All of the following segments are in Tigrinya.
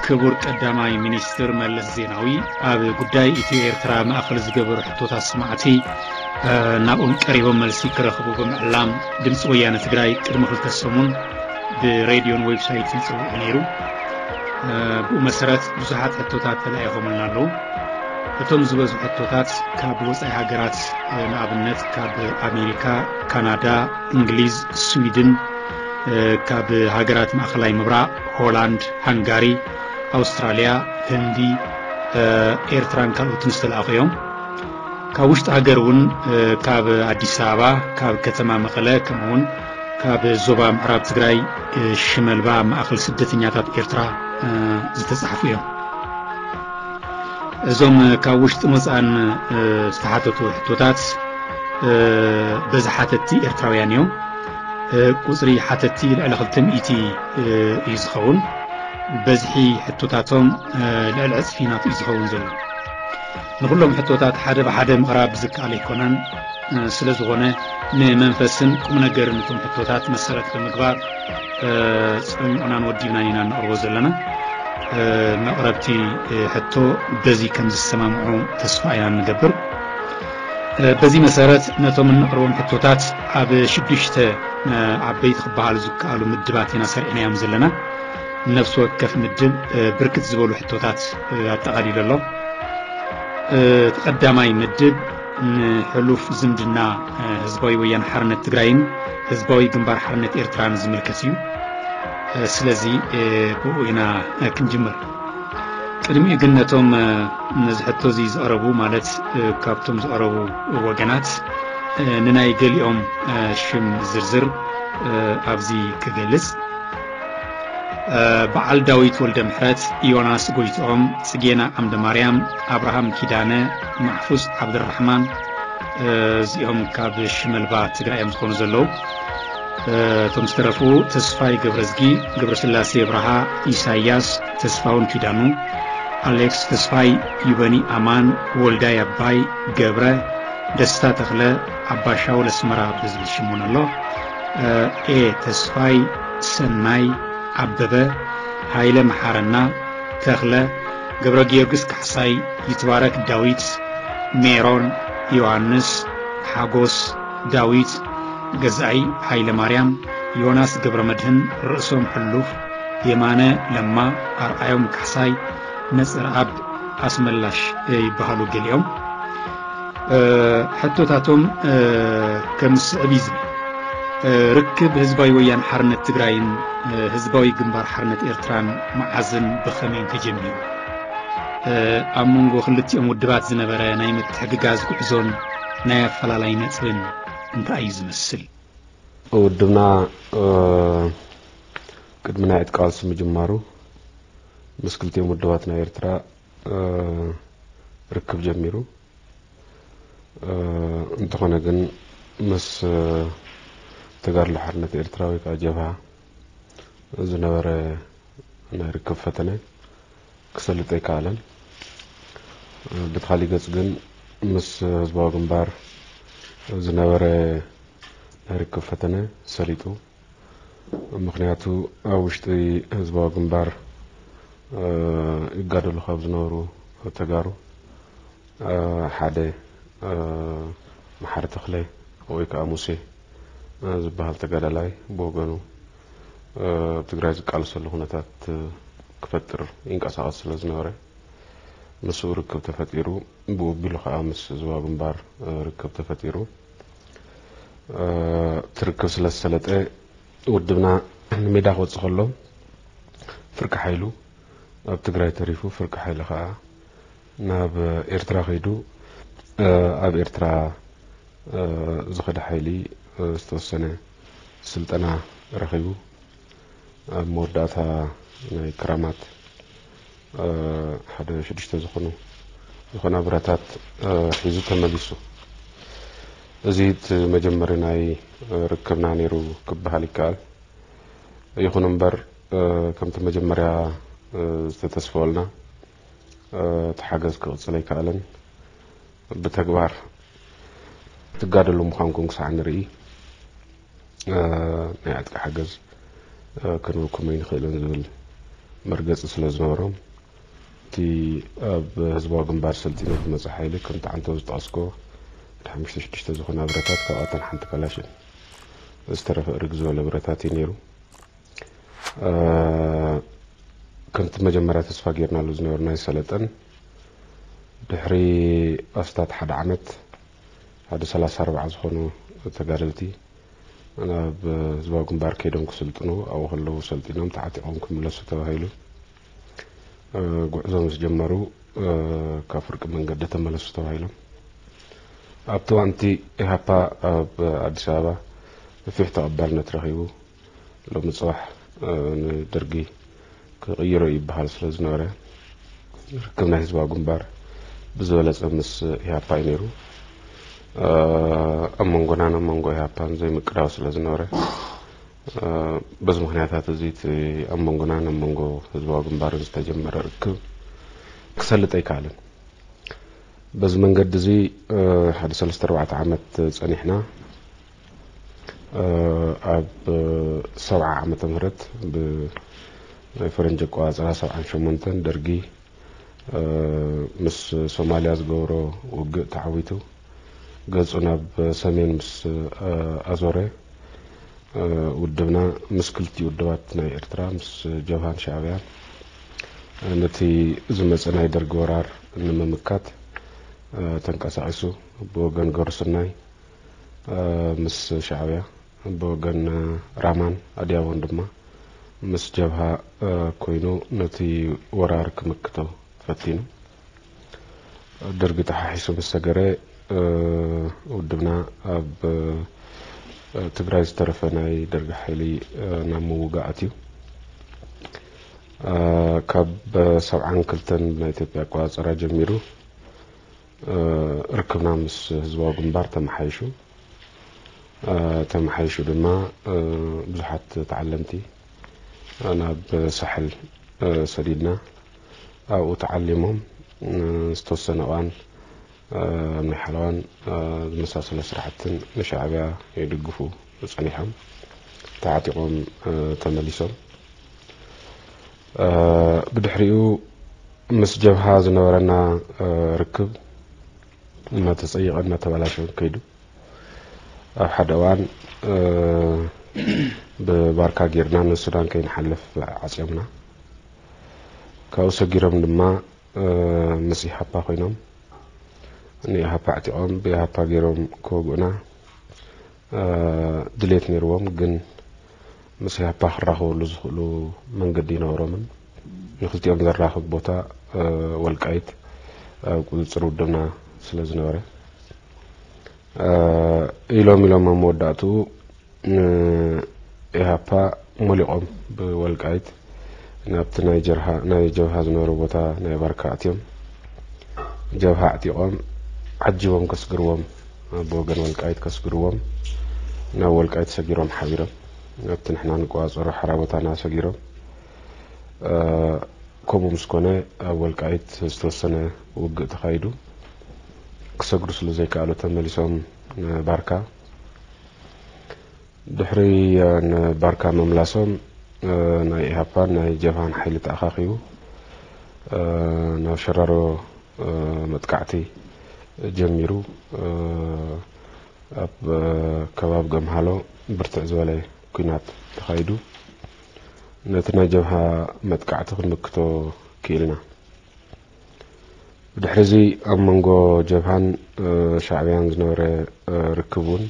ክቡር ቀዳማይ ሚኒስትር መለስ ዜናዊ ኣብ ጉዳይ ኢትዮ ኤርትራ ማእኸል ዝገበሩ ሕቶታት ስማዕቲ ናብኦም ቀሪቦም መልሲ ክረኽቡ ብምዕላም ድምፂ ወያነ ትግራይ ቅድሚ ክልተ ሰሙን ብሬድዮን ዌብሳይትን ፀዊዑ ነይሩ። ብኡ መሰረት ብዙሓት ሕቶታት ተላኢኾምልና ኣለዉ። እቶም ዝበዝሑ ሕቶታት ካብ ወፃኢ ሃገራት፣ ንኣብነት ካብ ኣሜሪካ፣ ካናዳ፣ እንግሊዝ፣ ስዊድን፣ ካብ ሃገራት ማእኸላይ ምብራቕ፣ ሆላንድ፣ ሃንጋሪ፣ ኣውስትራልያ፣ ህንዲ፣ ኤርትራን ካልኦትን ዝተላእኹ እዮም። ካብ ውሽጢ ሃገር እውን ካብ ኣዲስ ኣበባ፣ ካብ ከተማ መቐለ፣ ከምኡውን ካብ ዞባ ምዕራብ ትግራይ ሽመልባ ማእኸል ስደተኛታት ኤርትራ ዝተፃሕፉ እዮም። እዞም ካብ ውሽጥን ወፃእን ዝተሓተቱ ሕቶታት በዚ ሓተቲ ኤርትራውያን እዮም። ቁፅሪ ሓተቲ ልዕሊ ክልተ ሚእቲ እዩ ዝኸውን። በዝሒ ሕቶታቶም ልዕሊ ዕፅፊ ናቱ እዩ ዝኸውን ዘሎ። ንኩሎም ሕቶታት ሓደ ብሓደ ምቕራብ ዝከኣል ኣይኮነን። ስለ ዝኾነ ንመንፈስን ቁም ነገርን እቶም ሕቶታት መሰረት ብምግባር ጸሚቑናን ወዲብናን ኢና ነቕርቦ ዘለና። መቕረብቲ ሕቶ በዚ ከም ዝሰማምዑ ተስፋ ኢና እንገብር። በዚ መሰረት ነቶም እንቕርቦም ሕቶታት ኣብ ሽዱሽተ ዓበይቲ ክበሃሉ ዝከኣሉ ምድባት ኢና ሰሪዕናዮም ዘለና። ነፍሲ ወከፍ ምድብ ብርክት ዝበሉ ሕቶታት ኣጠቓሊሉ ኣሎ። እቲ ቀዳማይ ምድብ ንሕሉፍ ዝምድና ህዝባዊ ወያነ ሓርነት ትግራይን ህዝባዊ ግንባር ሓርነት ኤርትራን ዝምልከት እዩ። ስለዚ ብኡ ኢና ክንጅምር። ቅድሚኡ ግን ነቶም ነዚ ሕቶ እዚ ዝቐረቡ፣ ማለት ካብቶም ዝቐረቡ ወገናት ንናይ ገሊኦም ሽም ዝርዝር ኣብዚ ክገልጽ፣ በዓል ዳዊት ወልደ ምሕረት፣ ዮናስ ጎይትኦም፣ ጽጌና ዓምደ ማርያም፣ ኣብርሃም ኪዳነ፣ ማሕፉዝ ዓብደራሕማን፣ እዚኦም ካብ ሽመልባ ትግራይ እዮም ዝኾኑ ዘለዉ። እቶም ዝተረፉ ተስፋይ ገብረዝጊ፣ ገብረስላሴ ብርሃ፣ ኢሳያስ፣ ተስፋውን ኪዳኑ፣ ኣሌክስ ተስፋይ፣ ዩበኒ ኣማን፣ ወልዳይ ኣባይ፣ ገብረ፣ ደስታ ተኽለ፣ ኣባሻው ለስመራ ብዝብል ሽም እውን ኣሎ። ኤ ተስፋይ፣ ሰናይ፣ ኣበበ፣ ሃይለ መሓረና፣ ተኽለ፣ ገብረ ጊዮርጊስ ካሕሳይ፣ ይትባረክ ዳዊት፣ ሜሮን፣ ዮሃንስ፣ ሓጎስ፣ ዳዊት፣ ገዛኢ፣ ሃይለ ማርያም፣ ዮናስ ገብረ መድህን፣ ርእሶም ሕሉፍ፣ የማነ ለማ፣ ኣርኣዮም ካሕሳይ፣ ነጸረኣብ ኣስመላሽ ይበሃሉ ገሊኦም። ሕቶታቶም ከም ዝስዕብ እዩ ዝብል። ርክብ ህዝባዊ ወያነ ሓርነት ትግራይን ህዝባዊ ግንባር ሓርነት ኤርትራን መዓዝን ብኸመይን ተጀሚሩ? ኣብ መንጎ ክልቲኦም ውድባት ዝነበረ ናይ ምትሕግጋዝ ጉዕዞን ናይ ኣፈላላይ ነጥብን እንታይ እዩ ዝመስል? ውድብና ቅድሚ ናይ ዕጥቂ ቃልሲ ምጅማሩ ምስ ክልቲኦም ውድባት ናይ ኤርትራ ርክብ ጀሚሩ። እንተኾነ ግን ምስ ተጋድሎ ሓርነት ኤርትራ ወይ ከዓ ጀብሃ ዝነበረ ናይ ርክብ ፈተነ ክሰልጥ ኣይከኣለን። ብቲ ካሊእ ገፅ ግን ምስ ህዝባዊ ግንባር ዝነበረ ናይ ርክብ ፈተነ ሰሊጡ። ምኽንያቱ ኣብ ውሽጢ ህዝባዊ ግንባር ይጋደሉ ካብ ዝነበሩ ተጋሩ ሓደ መሓሪ ተኽለ ወይ ከዓ ሙሴ ዝበሃል ተጋዳላይ ብወገኑ ኣብ ትግራይ ዝቃለሰሉ ኩነታት ክፈጥር ይንቀሳቐስ ስለ ዝነበረ ምስኡ ርክብ ተፈጢሩ። ብኡ ኣቢሉ ከዓ ምስ ህዝባዊ ግንባር ርክብ ተፈጢሩ። እቲ ርክብ ስለ ዝሰለጠ ውድብና ንሜዳ ክወፅእ ከሎ ፍርቂ ሓይሉ ኣብ ትግራይ ተሪፉ፣ ፍርቂ ሓይሊ ከዓ ናብ ኤርትራ ከይዱ ኣብ ኤርትራ ዝኸደ ሓይሊ ዝተወሰነ ስልጠና ረኺቡ ኣብ መወዳእታ ናይ ክራማት ሓደ ሽዱሽተ ዝኾኑ ዝኾና ብረታት ሒዙ ተመሊሱ። እዚ እቲ መጀመሪ ናይ ርክብና ነይሩ ክበሃል ይከኣል። ይኹን እምበር ከምቲ መጀመርያ ዝተተስፈወልና እቲ ሓገዝ ክቕፅል ኣይከኣለን። ብተግባር ትጋደሉ ምዃንኩም ክሳዕ ንርኢ ናይ ዕጥቂ ሓገዝ ክንህበኩም ኣይንኽእልን ዝብል መርገፂ ስለ ዝነበሮም፣ እቲ ኣብ ህዝባዊ ግንባር ሰልጢኑ ዝመፀ ሓይሊ፣ ከምቲ ዓንተው ዝጠቐስኮ፣ ወደ ሓሙሽተ ሽዱሽተ ዝኾና ብረታት፣ ካብኣተን ሓንቲ ካላሽን ዝተረፈ እርግ ዝበለ ብረታት እዩ ነይሩ። ከምቲ መጀመርያ ተስፋ ጌርናሉ ዝነበርና ኣይሰለጠን። ድሕሪ ኣስታት ሓደ ዓመት፣ ሓደ ሰላሳ ኣርባዓ ዝኾኑ ተጋደልቲ ናብ ህዝባዊ ግንባር ከይዶም ክስልጥኑ፣ ኣብኡ ከለዉ ሰልጢኖም ተዓጢቖም ክምለሱ ተባሂሉ፣ ጉዕዞ ምስ ጀመሩ፣ ካብ ፍርቂ መንገዲ ተመለሱ ተባሂሎም። ኣብቲ እዋንቲ ኢሃፓ ኣብ ኣዲስ ኣበባ ሰፊሕ ተቐባልነት ረኺቡ፣ ሎሚ ጽባሕ ንደርጊ ክቕይሮ ይበሃል ስለ ዝነበረ፣ ርክብ ናይ ህዝባዊ ግንባር ብዝበለጸ ምስ ኢሃፓ እዩ ነይሩ። ኣብ መንጎናን ኣብ መንጎ ኢሃፓን ዘይምቅዳው ስለ ዝነበረ፣ በዚ ምኽንያታት እዚ እቲ ኣብ መንጎናን ኣብ መንጎ ህዝባዊ ግንባርን ዝተጀመረ ርክብ ክሰልጥ ኣይከኣልን። በዚ መንገዲ እዚ ሓደ ሰለስተ ኣርባዕተ ዓመት ጸኒሕና። ኣብ ሰብዓ ዓመተ ምህረት፣ ብናይ ፈረንጂ ኣቆጻጽራ ሰብዓን ሸሞንተን፣ ደርጊ ምስ ሶማልያ ዝገበሮ ውግእ ተዓዊቱ፣ ገጹ ናብ ሰሜን ምስ ኣዞረ፣ ውድብና ምስ ክልቲኡ ውድባት ናይ ኤርትራ፣ ምስ ጀብሃን ሻዕብያን፣ ነቲ ዝመጸ ናይ ደርጊ ወራር ንምምካት ተንቀሳቒሱ። ብወገን ገሩስናይ ምስ ሻዕብያ፣ ብወገን ራማን ኣድያቦን ድማ ምስ ጀብሃ ኮይኑ ነቲ ወራር ክምክቶ ፈቲኑ። ደርጊ ተሓሒሱ ምስ ሰገረ፣ ውድብና ኣብ ትግራይ ዝተረፈ ናይ ደርጊ ሓይሊ ናብ ምውጋእ ኣትዩ። ካብ ሰብዓን ክልተን ብናይ ኢትዮጵያ ኣቆጻጽራ ጀሚሩ፣ ርክብና ምስ ህዝባዊ ግንባር ተመሓይሹ። ተመሓይሹ ድማ፣ ብዙሓት ተዓለምቲ ናብ ሳሕል ሰዲድና። ኣብኡ ተዓሊሞም፣ ዝተወሰነ እዋን ኣብ ናይ ሓለዋን ዝመሳሰለ ስራሕትን ንሻዕብያ ይድግፉ ጸኒሖም። ተዓጢቖም ተመሊሶም። ብድሕሪኡ ምስ ጀብሃ ዝነበረና ርክብ እናተጸየቐ እናተበላሸወ ከይዱ። ኣብ ሓደ እዋን ብባርካ ጌርና ንሱዳን ከይንሓልፍ ዓጽዮምና። ካብኡ ሰጊሮም ድማ ምስ ኢሃፓ ኮይኖም፣ ንኢሃፓ ኣዕጢቖም ብኢሃፓ ገይሮም ክወግኡና ድሌት ነይርዎም። ግን ምስ ኢሃፓ ክራኸበሉ ዝኽእሉ መንገዲ ይነበሮምን። ንክልቲኦም ዘራኽብ ቦታ፣ ወልቃይት፣ ኣብ ቁፅፅር ውድብና ስለ ዝነበረ፣ ኢሎም ኢሎም ኣብ መወዳእትኡ ንኢሃፓ ሞሊቖም ብወልቃይት ናብቲ ናይ ጀርሃ-፣ ናይ ጀብሃ ዝነበረ ቦታ ናይ ባርካ ኣትዮም። ጀብሃ ኣዕጢቖም ዓጂቦም ከስግርዎም፣ ብወገን ወልቃይት ከስግርዎም ናብ ወልቃይት ሰጊሮም ሓቢሮም ናብቲ ንሕና ንቆጻጸሮ ሓራ ቦታና ሰጊሮም። ከምኡ ምስ ኮነ ኣብ ወልቃይት ዝተወሰነ ውግእ ተኻይዱ። ክሰግሩ ስለ ዘይከኣሉ ተመሊሶም ንባርካ። ድሕሪ ንባርካ ምምላሶም፣ ናይ ኢሃፓን ናይ ጀብሃን ሓይሊ ተኣኻኺቡ ናብ ሸራሮ መጥቃዕቲ ጀሚሩ። ኣብ ከባቢ ገምሃሎ ብርትዕ ዝበለ ኲናት ተኻይዱ። ነቲ ናይ ጀብሃ መጥቃዕቲ ክንምክቶ ክኢልና። ብድሕሪ እዚ ኣብ መንጎ ጀብሃን ሻዕብያን ዝነበረ ርክብ እውን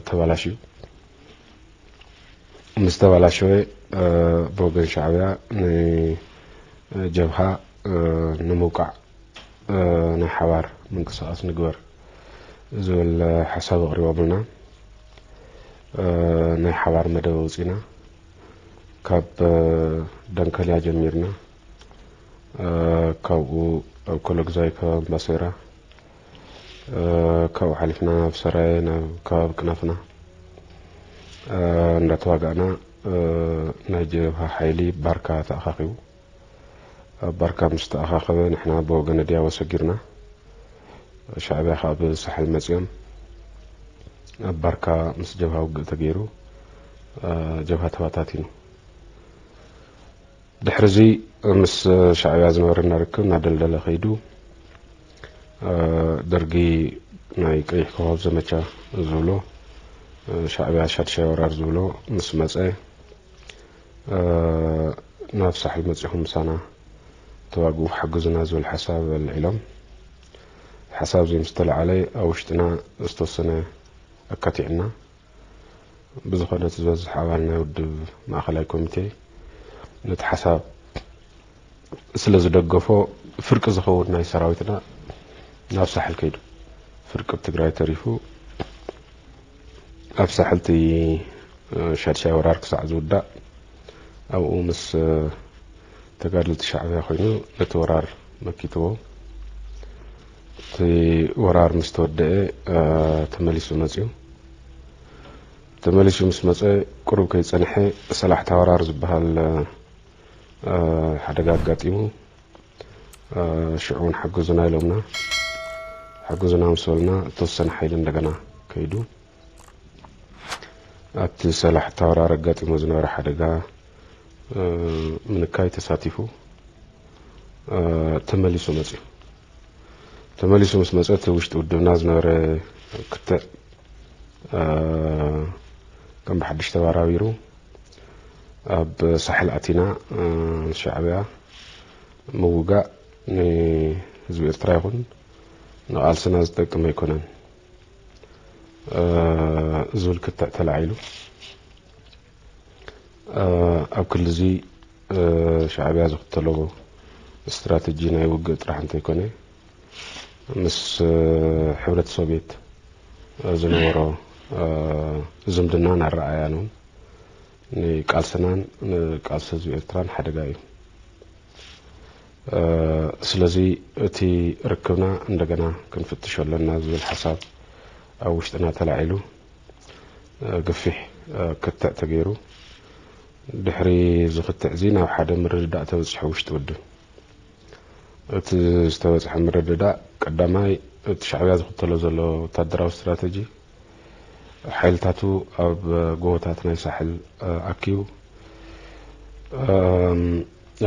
ተባላሽዩ። ምስ ተባላሸወ፣ ብወገን ሻዕብያ ንጀብሃ ንምውቃዕ ናይ ሓባር ምንቅስቓስ ንግበር ዝብል ሓሳብ ኣቕሪቦምልና። ናይ ሓባር መደብ ኣውፂና። ካብ ደንከልያ ጀሚርና፣ ካብኡ ኣብ ኮሎግዛይ፣ ከባቢ ባሴራ፣ ካብኡ ሓሊፍና ናብ ሰራየ፣ ናብ ከባቢ ቅናፍና እንዳተዋጋእና፣ ናይ ጀብሃ ሓይሊ ባርካ ተኣኻኺቡ። ኣብ ባርካ ምስ ተኣኻኸበ፣ ንሕና ብወገነ ድያቦ ሰጊርና። ሻዕብያ ከዓ ብሳሕል መፂኦም። ኣብ ባርካ ምስ ጀብሃ ውግእ ተገይሩ፣ ጀብሃ ተባታቲኑ። ድሕሪ እዚ ምስ ሻዕብያ ዝነበረና ርክብ እናደልደለ ከይዱ፣ ደርጊ ናይ ቀይሕ ኮኾብ ዘመቻ ዝብሎ፣ ሻዕብያ ሻድሻይ ወራር ዝብሎ ምስ መጸ፣ ናብ ሳሕል መጺኹም ምሳና ተዋግኡ ሓግዙና ዝብል ሓሳብ ኣልዒሎም። ሓሳብ እዚ ምስ ተለዓለ ኣብ ውሽጥና ዝተወሰነ ኣካቲዕና። ብዝኾነ እቲ ዝበዝሕ ኣባል ናይ ውድብ ማእኸላይ ኮሚቴ ነቲ ሓሳብ ስለ ዝደገፎ ፍርቂ ዝኸውን ናይ ሰራዊትና ናብ ሳሕል ከይዱ። ፍርቂ ኣብ ትግራይ ተሪፉ ኣብ ሳሕል እቲ ሻድሻይ ወራር ክሳዕ ዝውዳእ ኣብኡ ምስ ተጋደልቲ ሻዕብያ ኮይኑ ነቲ ወራር መኪትዎ። እቲ ወራር ምስ ተወደአ ተመሊሱ መፅዩ። ተመሊሱ ምስ መፀ ቁሩብ ከይፀንሐ ሰላሕታ ወራር ዝበሃል ሓደጋ ኣጋጢሙ። ሽዑ እውን ሓግዙና ኢሎምና። ሓግዙና ምስ በልና እተወሰነ ሓይሊ እንደገና ከይዱ። ኣብቲ ሰላሕታ ወራር ኣጋጢሞ ዝነበረ ሓደጋ ምንካይ ተሳቲፉ ተመሊሱ መፅዩ። ተመሊሱ ምስ መፀ እቲ ውሽጢ ውድብና ዝነበረ ክትዕ ከም ብሓድሽ ተባራቢሩ ኣብ ሳሕል ኣቲና ሻዕብያ ምውጋእ ንህዝቢ ኤርትራ ይኹን ንቓልስና ዝጠቅም ኣይኮነን ዝብል ክትዕ ተላዒሉ። ኣብ ክሊ እዚ ሻዕብያ ዝኽተሎ ስትራተጂ ናይ ውግእ ጥራሕ እንተይኮነ ምስ ሕብረት ሶቪየት ዝነበሮ ዝምድናን ኣረኣእያን እውን ንቃልስናን ንቃልሲ ህዝቢ ኤርትራን ሓደጋ እዩ። ስለዚ እቲ ርክብና እንደገና ክንፍትሾ ኣለና ዝብል ሓሳብ ኣብ ውሽጥና ተላዒሉ ገፊሕ ክትዕ ተገይሩ። ድሕሪ እዚ ክትዕ እዚ ናብ ሓደ ምርድዳእ ተበፂሑ ውሽጢ ውድብ። እቲ ዝተበፅሐ ምርድዳእ ቀዳማይ እቲ ሻዕብያ ዝኽተሎ ዘሎ ወታደራዊ ስትራተጂ ሓይልታቱ ኣብ ጎቦታት ናይ ሳሕል ኣኪቡ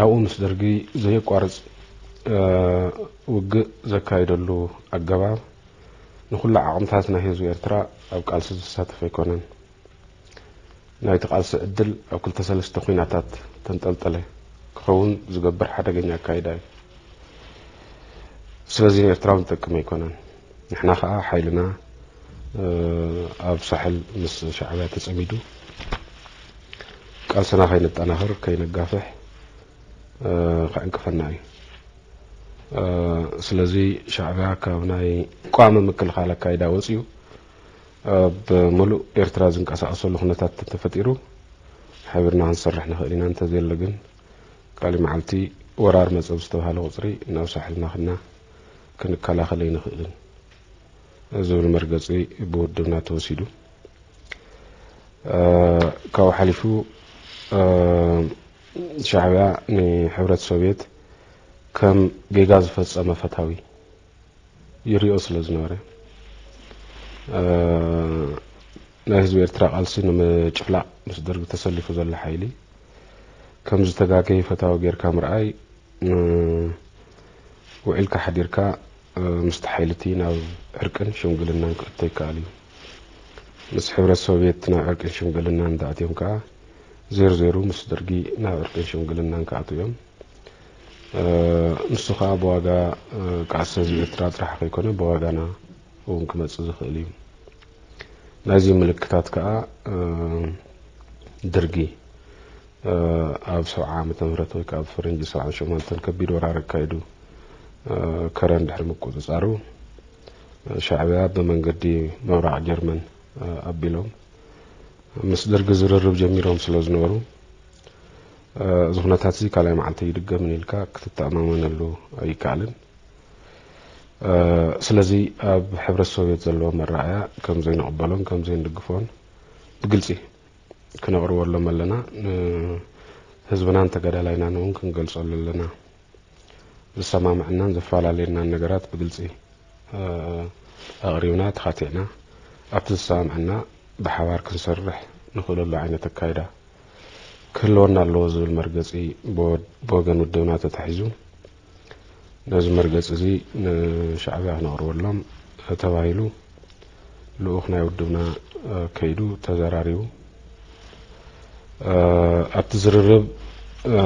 ኣብኡ ምስ ደርጊ ዘየቋርፅ ውግእ ዘካየደሉ ኣገባብ ንኹሉ ዓቕምታት ናይ ህዝቢ ኤርትራ ኣብ ቃልሲ ዘሳተፈ ኣይኮነን። ናይቲ ቃልሲ ዕድል ኣብ ክልተ ሰለስተ ኲናታት ተንጠልጠለ ክኸውን ዝገብር ሓደገኛ ኣካይዳ እዩ። ስለዚ ንኤርትራውን ዝጠቅም ኣይኮነን። ንሕና ኸኣ ሓይልና ኣብ ሳሕል ምስ ሻዕብያ ተጸሚዱ ቃልስና ከይነጠናኽር ከይነጋፍሕ ከዕንቅፈና እዩ። ስለዚ ሻዕብያ ካብ ናይ ቋሚ ምክልኻል ኣካይዳ ወፂኡ ኣብ ምሉእ ኤርትራ ዝንቀሳቐሰሉ ኩነታት እንተተፈጢሩ ሓቢርና ክንሰርሕ ንኽእል ኢና። እንተዘየለ ግን ካሊእ መዓልቲ ወራር መጸ ብዝተባህለ ቁፅሪ ናብ ሳሕልና ክና ክንከላኸል ኣይንኽእልን ዝብል መርገፂ ብውድብና ተወሲዱ። ካብኡ ሓሊፉ ሻዕብያ ንሕብረት ሶቪየት ከም ጌጋ ዝፈጸመ ፈታዊ ይሪኦ ስለ ዝነበረ ናይ ህዝቢ ኤርትራ ቃልሲ ንምጭፍላቕ ምስ ደርጊ ተሰሊፉ ዘሎ ሓይሊ ከም ዝተጋገየ ፈታዊ ጌርካ ምርኣይ ውዒልካ ሓዲርካ ምስቲ ሓይሊ እቲ ናብ ዕርቅን ሽምግልናን ክእቶ ይከኣል እዩ። ምስ ሕብረት ሶቪየት ናብ ዕርቅን ሽምግልናን እንተኣትዮም ከኣ ዜሩ ዜሩ ምስ ደርጊ ናብ ዕርቅን ሽምግልናን ክኣትዉ እዮም። ንሱ ከኣ ብዋጋ ቃልሲ ህዝቢ ኤርትራ ጥራሕ ከይኮነ ብዋጋና እውን ክመጽእ ዝኽእል እዩ። ናይዚ ምልክታት ከኣ ደርጊ ኣብ ሰብዓ ዓመተ ምህረት ወይ ከዓ ኣብ ፈረንጂ ሰብዓ ሸሞንተን ከቢድ ወራር ኣካይዱ ከረን ድሕሪ ምቁፅፃሩ ሻዕብያ ብመንገዲ ምብራቕ ጀርመን ኣቢሎም ምስ ደርጊ ዝርርብ ጀሚሮም ስለ ዝነበሩ እዚ ኩነታት እዚ ካልኣይ መዓልቲ ኣይድገምን ኢልካ ክትተኣማመነሉ ኣይከኣልን። ስለዚ ኣብ ሕብረት ሶቪየት ዘለዎ መረኣያ ከም ዘይንቕበሎን ከም ዘይንድግፎን ብግልፂ ክነቕርበሎም ኣለና። ንህዝብናን ተጋዳላይናን እውን ክንገልፀሉ ኣለና። ዝሰማምዐናን ዘፈላለየናን ነገራት ብግልፂ ኣቕሪብና ተኻቲዕና ኣብቲ ዝሰማምዐና ብሓባር ክንሰርሕ ንኽእለሉ ዓይነት ኣካይዳ ክህልወና ኣለዎ ዝብል መርገጺ ብወ-፣ ብወገን ውድብና ተታሒዙ፣ ነዚ መርገጺ እዚ ንሻዕብያ ክነቕርበሎም ተባሂሉ ልኡኽ ናይ ውድብና፣ እ፣ ከይዱ ተዘራሪቡ። እ፣ ኣብቲ ዝርርብ፣ እ፣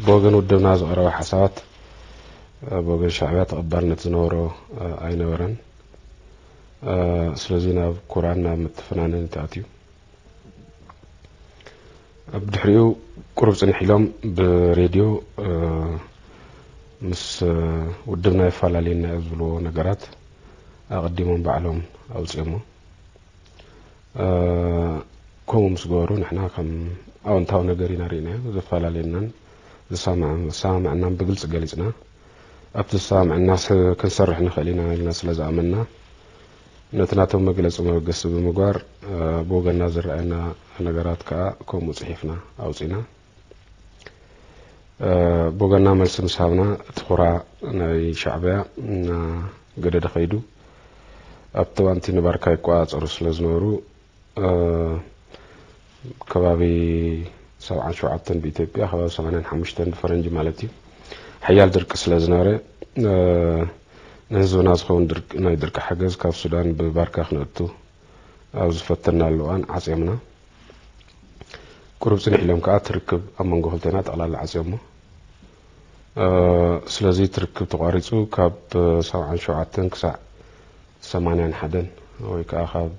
ብወገን ውድብና ዝቐረበ ሓሳባት፣ እ፣ ብወገን ሻዕብያ ተቐባልነት ዝነበሮ፣ እ፣ ኣይነበረን። እ፣ ስለዚ ናብ ኩራን ናብ ምትፍናንን ተኣትዩ። ኣብ ድሕሪኡ ቁሩብ ጽንሕ ኢሎም ብሬድዮ፣ እ፣ ምስ፣ እ፣ ውድብና የፈላለየና እዩ ዝብልዎ ነገራት ኣቐዲሞም ባዕሎም ኣውጺኦሞ። እ፣ ከምኡ ምስ ገበሩ ንሕና ከም ኣወንታዊ ነገር ኢና ርኢናዮ። ዘፈላለየናን ዝሰማዕ-፣ ዝሰማማዕናን ብግልጺ ገሊጽና። ኣብቲ ዝሰማማዕና ስ-፣ ክንሰርሕ ንኽእል ኢና ኢልና ስለ ዝኣመንና፣ ነቲ ናቶም መግለጺ መበገሲ ብምግባር፣ እ፣ ብወገንና ዝረኣየና ነገራት ከኣ ከምኡ ጽሒፍና ኣውጺና። እ፣ ብወገንና መልሲ ምስ ሃብና፣ እቲ ኹራ ናይ ሻዕብያ እናገደደ ኸይዱ፣ ኣብቲ እዋንቲ ንባርካ ይቆጻጸሩ ስለ ዝነበሩ፣ እ፣ ከባቢ ሰብዓን ሸውዓተን ብኢትዮጵያ፣ ከባቢ ሰማንያን ሓሙሽተን ብፈረንጂ ማለት እዩ፣ ሓያል ድርቂ ስለ ዝነበረ፣ እ፣ ንህዝብና ዝኸውን ድርቂ፣ ናይ ድርቂ ሓገዝ ካብ ሱዳን ብባርካ ክነእቱ ኣብ ዝፈተናሉ እዋን ዓጽዮምና። ቁሩብ ጽንሕ ኢሎም ከኣ እቲ ርክብ ኣብ መንጎ ክልቴና ጠቕላላ ዓጽዮሞ። እ፣ ስለዚ እቲ ርክብ ተቋሪጹ ካብ ሰብዓን ሸውዓተን ክሳዕ ሰማንያን ሓደን ወይ ከኣ ካብ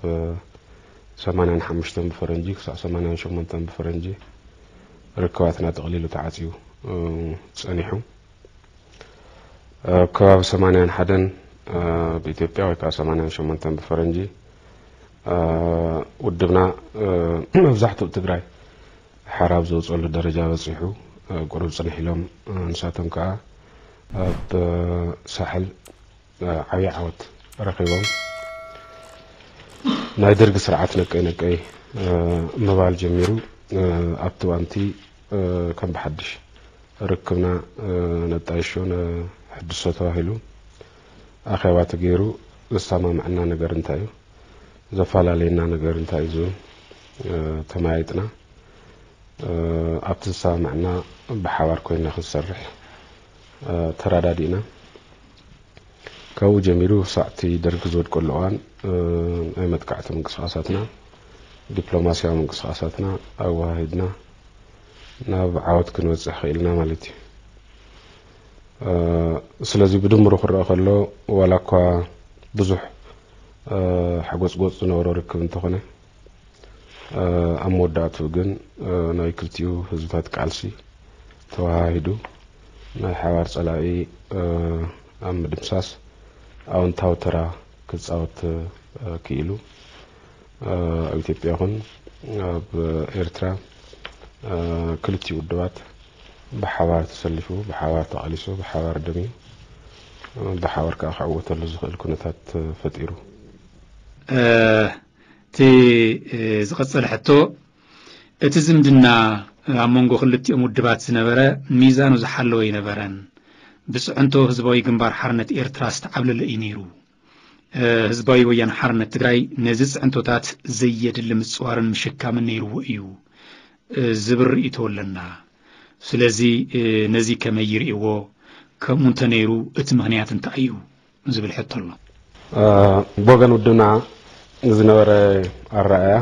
ሰማንያን ሓሙሽተን ብፈረንጂ ክሳዕ ሰማንያን ሸሞንተን ብፈረንጂ ርክባትና ጠቕሊሉ ተዓጽዩ፣ እ፣ ጸኒሑ። ኣብ ከባቢ ሰማንያን ሓደን፣ እ፣ ብኢትዮጵያ ወይ ከኣ ሰማንያን ሸሞንተን ብፈረንጂ፣ እ፣ ውድብና፣ እ፣ መብዛሕትኡ ትግራይ ሓራ ኣብ ዘውጸሉ ደረጃ በጺሑ፣ እ፣ ቁሩብ ጽንሕ ኢሎም፣ እ፣ ንሳቶም ከኣ ኣብ፣ እ፣ ሳሕል፣ እ፣ ዓብዪ ዓወት ረኺቦም። ናይ ደርጊ ስርዓት ነቀይ ነቀይ፣ እ፣ ምባል ጀሚሩ። እ፣ ኣብቲ እዋንቲ፣ እ፣ ከም ብሓድሽ ርክብና፣ እ፣ ነጣይሾ፣ ነሕድሶ ተባሂሉ ኣኼባ ተገይሩ። ዘሰማምዐና ነገር እንታይ እዩ? ዘፈላለየና ነገር እንታይ እዩ ዝብል፣ እ፣ ተመያይጥና። እ፣ ኣብቲ ዝሰማማዕና ብሓባር ኮይንና ክንሰርሕ፣ እ፣ ተረዳዲእና። ካብኡ ጀሚሩ ክሳዕ እቲ ደርጊ ዝወድቀሉ እዋን፣ እ፣ ናይ መጥቃዕቲ ምንቅስቓሳትና፣ ዲፕሎማስያዊ ምንቅስቓሳትና ኣወሃሂድና ናብ ዓወት ክንበጽሕ ኽኢልና ማለት እዩ። እ፣ ስለዚ ብድምሩ ክረኣ ከሎ፣ ዋላ እኳ ብዙሕ፣ እ፣ ሓጎጽጎጽ ዝነበሮ ርክብ እንተኾነ፣ እ፣ ኣብ መወዳእትኡ ግን፣ እ፣ ናይ ክልቲኡ ህዝብታት ቃልሲ ተወሃሂዱ ናይ ሓባር ጸላኢ፣ እ፣ ኣብ ምድምሳስ ኣወንታዊ ተራ ክጻወት፣ እ፣ ክኢሉ። እ፣ ኣብ ኢትዮጵያ ይኹን ኣብ ኤርትራ፣ እ፣ ክልቲኡ ውድባት ብሓባር ተሰሊፉ፣ ብሓባር ተቓሊሱ፣ ብሓባር ደምዩ፣ እ፣ ብሓባር ከኣ ክዕወተሉ ዝኽእል ኩነታት፣ እ፣ ፈጢሩ። እ፣ እቲ፣ እ፣ ዝቐጸለ ሕቶ፣ እቲ ዝምድና ኣብ መንጎ ክልቲኦም ውድባት ዝነበረ ሚዛኑ ዝሓለወ ኣይነበረን። ብጽዕንቶ ህዝባዊ ግንባር ሓርነት ኤርትራ ዝተዓብለለ እዩ ነይሩ። እ፣ ህዝባዊ ወያነ ሓርነት ትግራይ ነዚ ጽዕንቶታት ዘየድሊ ምጽዋርን ምሽካምን ነይርዎ እዩ፣ እ፣ ዝብል ርእይቶ ኣለና። ስለዚ፣ እ፣ ነዚ ከመይ ይርእይዎ? ከምኡ እንተነይሩ እቲ ምኽንያት እንታይ እዩ? ዝብል ሕቶ ኣሎ። እ፣ ብወገን ውድብና ዝነበረ ኣረኣእያ፣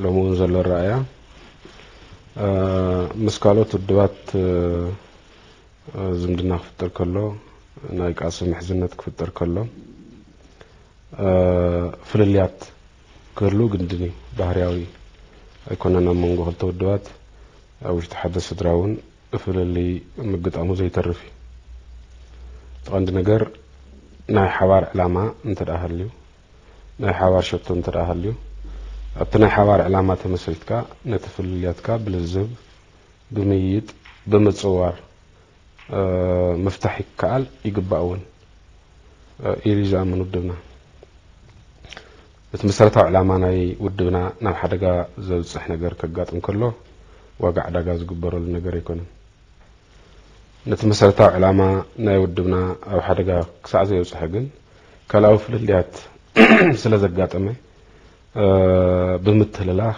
ሎሚ እውን ዘሎ ኣረኣእያ፣ እ፣ ምስ ካልኦት ውድባት፣ እ፣ ዝምድና ክፍጠር ከሎ፣ ናይ ቃልሲ ምሕዝነት ክፍጠር ከሎ፣ እ፣ ፍልልያት ክህሉ ግድን እዩ። ባህርያዊ ኣይኮነን ኣብ መንጎ ክልተ ውድባት፣ ኣብ ውሽጢ ሓደ ስድራ እውን ፍልልይ ምግጣሙ ዘይተርፍ እዩ። እቲ ቀንዲ ነገር ናይ ሓባር ዕላማ እንተ ደኣ ሃልዩ፣ ናይ ሓባር ሸቶ እንተ ደኣ ሃልዩ፣ ኣብቲ ናይ ሓባር ዕላማ ተመስሪትካ ነቲ ፍልልያትካ ብልዝብ፣ ብምይይጥ፣ ብምጽዋር፣ እ፣ ምፍታሕ ይከኣል፣ ይግባእ እውን፣ እ፣ ኢሉ እዩ ዝኣምን ውድብና። እቲ መሰረታዊ ዕላማ ናይ ውድብና ናብ ሓደጋ ዘብጽሕ ነገር ከጋጥም ከሎ ዋጋ ዕዳጋ ዝግበረሉ ነገር ኣይኮነን። ነቲ መሰረታዊ ዕላማ ናይ ውድብና ኣብ ሓደጋ ክሳዕ ዘየብጽሐ ግን ካልኣዊ ፍልልያት ስለ ዘጋጠመ፣ እ፣ ብምትህልላኽ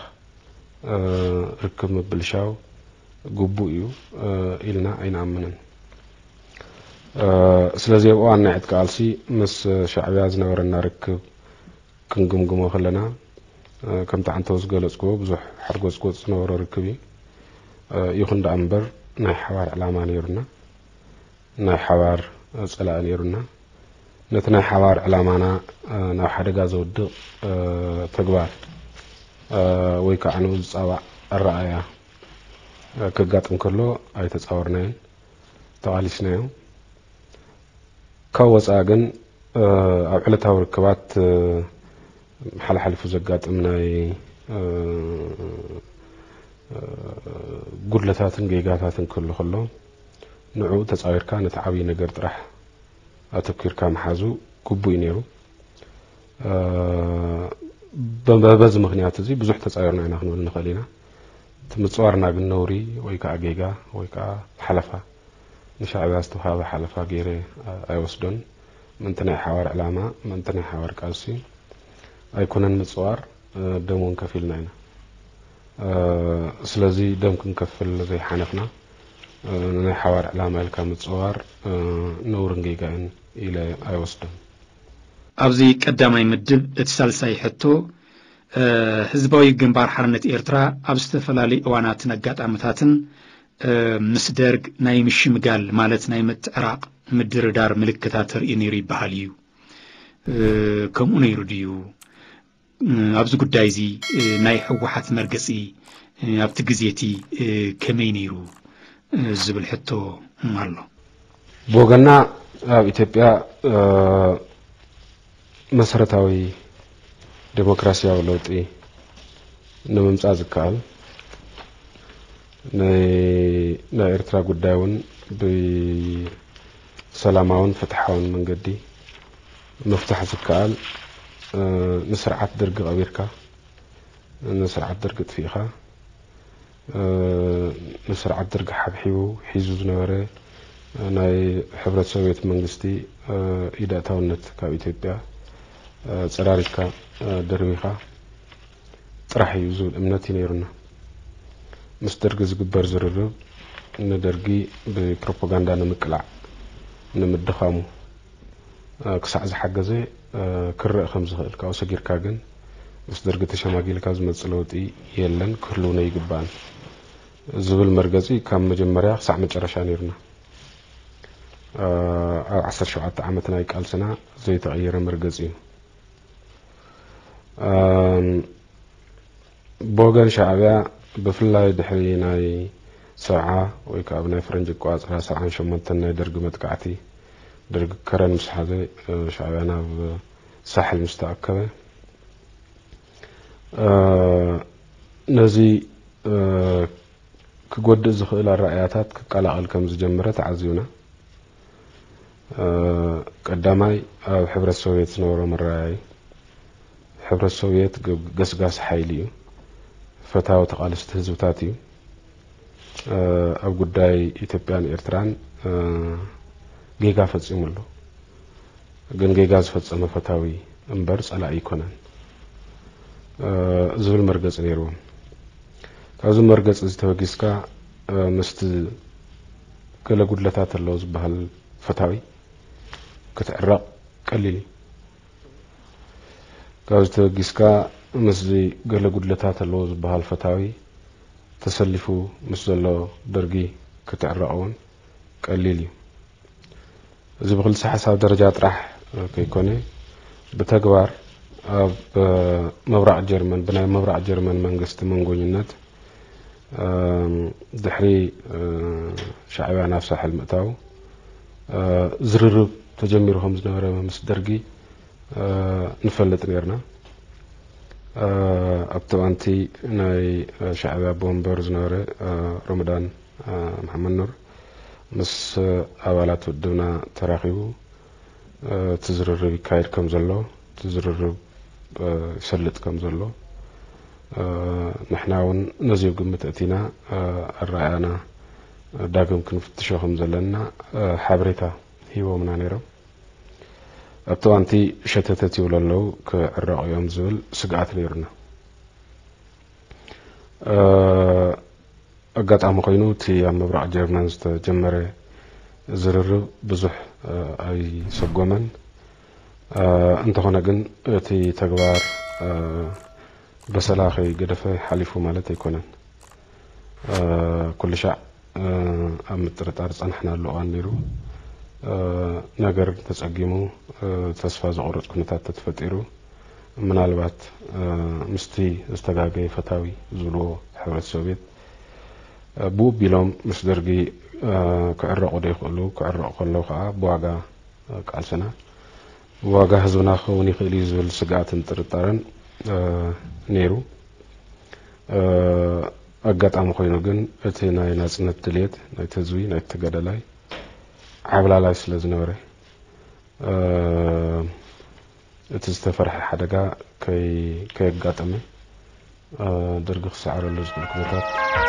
ርክብ ምብልሻው ግቡእ እዩ ኢልና ኣይንኣምንን። ስለዚ ኣብ እዋን ናይ ዕጥቂ ቃልሲ ምስ ሻዕብያ ዝነበረና ርክብ ክንግምግሞ ከለና፣ ከምቲ ዓንተው ዝገለጽክዎ ብዙሕ ሓርጎጽጎጽ ዝነበሮ ርክብ እዩ። ይኹን ደኣ እምበር ናይ ሓባር ዕላማ ነይሩና፣ ናይ ሓባር ጸላኢ ነይሩና። ነቲ ናይ ሓባር ዕላማና ናብ ሓደጋ ዘውድቕ ተግባር ወይ ከዓ ንኡ ዝጻባእ ኣረኣእያ ከጋጥም ከሎ ኣይተጻወርናዮን፣ ተቓሊስናዮ። ካብ ወጻኢ ግን ኣብ ዕለታዊ ርክባት ሓለሓሊፉ ዘጋጥም ናይ ጉድለታትን ጌጋታትን ክህሉ ከሎ ንዕኡ ተጻዊርካ ነቲ ዓብዪ ነገር ጥራሕ ኣተኪርካ ምሓዙ ግቡእ እዩ ነይሩ። በዚ ምኽንያት እዚ ብዙሕ ተጻዊርና ኢና ክንብል ንኽእል ኢና። እቲ ምጽዋርና ግን ነውሪ ወይ ከዓ ጌጋ ወይ ከዓ ሓለፋ፣ ንሻዕብያ ዝተውሃበ ሓለፋ ገይረ ኣይወስዶን። ምእንቲ ናይ ሓባር ዕላማ፣ ምእንቲ ናይ ሓባር ቃልሲ ኣይኮነን ምጽዋር፣ ደም እውን ከፊልና ኢና። ስለዚ ደም ክንከፍል ዘይሓነኽና፣ ንናይ ሓባር ዕላማ ኢልካ ምጽዋር ነውርን ጌጋን ኢለ ኣይወስዶን። ኣብዚ ቀዳማይ ምድብ እቲ ሳልሳይ ሕቶ፣ ህዝባዊ ግንባር ሓርነት ኤርትራ ኣብ ዝተፈላለዩ እዋናትን ኣጋጣምታትን ምስ ደርግ ናይ ምሽምጋል ማለት ናይ ምትዕራቕ ምድርዳር ምልክታት ተርእዩ ነይሩ ይበሃል እዩ። ከምኡ ነይሩ ድዩ? ኣብዚ ጉዳይ እዚ ናይ ህወሓት መርገፂ ኣብቲ ግዜ እቲ ከመይ ነይሩ ዝብል ሕቶ ኣሎ። ብወገና ኣብ ኢትዮጵያ መሰረታዊ ዴሞክራሲያዊ ለውጢ ንምምፃእ ዝከኣል ናይ ኤርትራ ጉዳይ እውን ብሰላማውን ፍትሓውን መንገዲ ምፍታሕ ዝከኣል ንስርዓት ደርጊ ቀቢርካ፣ ንስርዓት ደርጊ ጥፊእካ፣ ንስርዓት ደርጊ ሓብሒቡ ሒዙ ዝነበረ ናይ ሕብረት ሶቪየት መንግስቲ ኢዳእታውነት ካብ ኢትዮጵያ ፀራሪግካ ደርቢኻ ጥራሕ እዩ ዝብል እምነት እዩ ነይሩና። ምስ ደርጊ ዝግበር ዝርርብ ንደርጊ ብፕሮፓጋንዳ ንምቅላዕ ንምድኻሙ ክሳዕ ዝሓገዘ ክረእ ከም ዝኽእል፣ ካብኡ ሰጊርካ ግን ምስ ደርጊ ተሸማጊልካ ዝመጽእ ለውጢ የለን፣ ክህልውን ኣይግባእን ዝብል መርገጺ ካብ መጀመርያ ክሳዕ መጨረሻ ነይሩና። ኣብ ዓሰርተ ሸውዓተ ዓመት ናይ ቃልስና ዘይተቐየረ መርገጺ እዩ። ብወገን ሻዕብያ ብፍላይ ድሕሪ ናይ ሰብዓ ወይ ከዓ ብናይ ፈረንጂ ኣቆፃፅራ ሰብዓን ሸሞንተን ናይ ደርጊ መጥቃዕቲ፣ ደርጊ ከረን ምስ ሓዘ ሻዕብያ ናብ ሳሕል ምስ ተኣከበ ነዚ ክጎድእ ዝኽእል ኣረኣእያታት ክቀላቐል ከም ዝጀመረ ተዓዚብና። ቀዳማይ ኣብ ሕብረት ሶቪየት ዝነበሮ መረኣይ፣ ሕብረት ሶቪየት ገስጋሲ ሓይሊ እዩ፣ ፈታዊ ተቓለስቲ ህዝብታት እዩ። ኣብ ጉዳይ ኢትዮጵያን ኤርትራን ጌጋ ፈጺሙ ኣሎ። ግን ጌጋ ዝፈጸመ ፈታዊ እምበር ጸላኢ ኣይኮነን ዝብል መርገጺ ነይርዎም። ካብዚ መርገጺ እዚ ተበጊስካ ምስቲ ገለ ጉድለታት ኣለዎ ዝበሃል ፈታዊ ክትዕረቕ ቀሊል እዩ። ካብዚ ተበጊስካ ምስዚ ገለ ጉድለታት ኣለዎ ዝበሃል ፈታዊ ተሰሊፉ ምስ ዘሎ ደርጊ ክትዕረቕ እውን ቀሊል እዩ። እዚ ብክልሰ ሓሳብ ደረጃ ጥራሕ ከይኮነ ብተግባር ኣብ ምብራቕ ጀርመን ብናይ ምብራቕ ጀርመን መንግስቲ መንጎኝነት ድሕሪ ሻዕብያ ናብ ሳሕል ምእታው ዝርርብ ተጀሚሩ ከም ዝነበረ ምስ ደርጊ ንፈልጥ ነርና። ኣብቲ እዋንቲ ናይ ሻዕብያ ኣቦ ወንበር ዝነበረ ረመዳን መሓመድ ኑር ምስ ኣባላት ውድብና ተራኺቡ እቲ ዝርርብ ይካየድ ከም ዘሎ፣ እቲ ዝርርብ ይሰልጥ ከም ዘሎ፣ ንሕና እውን ነዚ ግምት ኣእቲና ኣረኣእያና ዳግም ክንፍትሾ ከም ዘለና ሓበሬታ ሂቦምና ነይሮም። ኣብቲ እዋንቲ ሸተተት ይብሉ ኣለዉ፣ ክዕረቑ እዮም ዝብል ስግኣት ነይሩና። ኣጋጣሚ ኮይኑ እቲ ኣብ ምብራቕ ጀርመን ዝተጀመረ ዝርርብ ብዙሕ ኣይሰጎመን። እንተኾነ ግን እቲ ተግባር በሰላ ከይገደፈ ሓሊፉ ማለት ኣይኮነን። ኩሉ ሻዕ ኣብ ምጥርጣር ዝጸናሕናሉ እዋን ነይሩ። ነገር ተጸጊሙ፣ ተስፋ ዘቑርጽ ኩነታት ተተፈጢሩ፣ ምናልባት ምስቲ ዝተጋገየ ፈታዊ ዝብልዎ ሕብረት ሶቪየት ብኡ ኣቢሎም ምስ ደርጊ ክዕረቑ ዶ ይኽእሉ? ክዕረቑ ከለዉ ከኣ ብዋጋ ቃልስና፣ ብዋጋ ህዝብና ክኸውን ይኽእል እዩ ዝብል ስግኣትን ጥርጣረን ነይሩ። ኣጋጣሚ ኮይኑ ግን እቲ ናይ ናጽነት ድልየት ናይቲ ህዝቢ፣ ናይቲ ተጋዳላይ ዓብላላይ ስለ ዝነበረ፣ እቲ ዝተፈርሐ ሓደጋ ከይ- ከየጋጠመ፣ ደርጊ ክሰዓረሉ ዝኽእል ኩነታት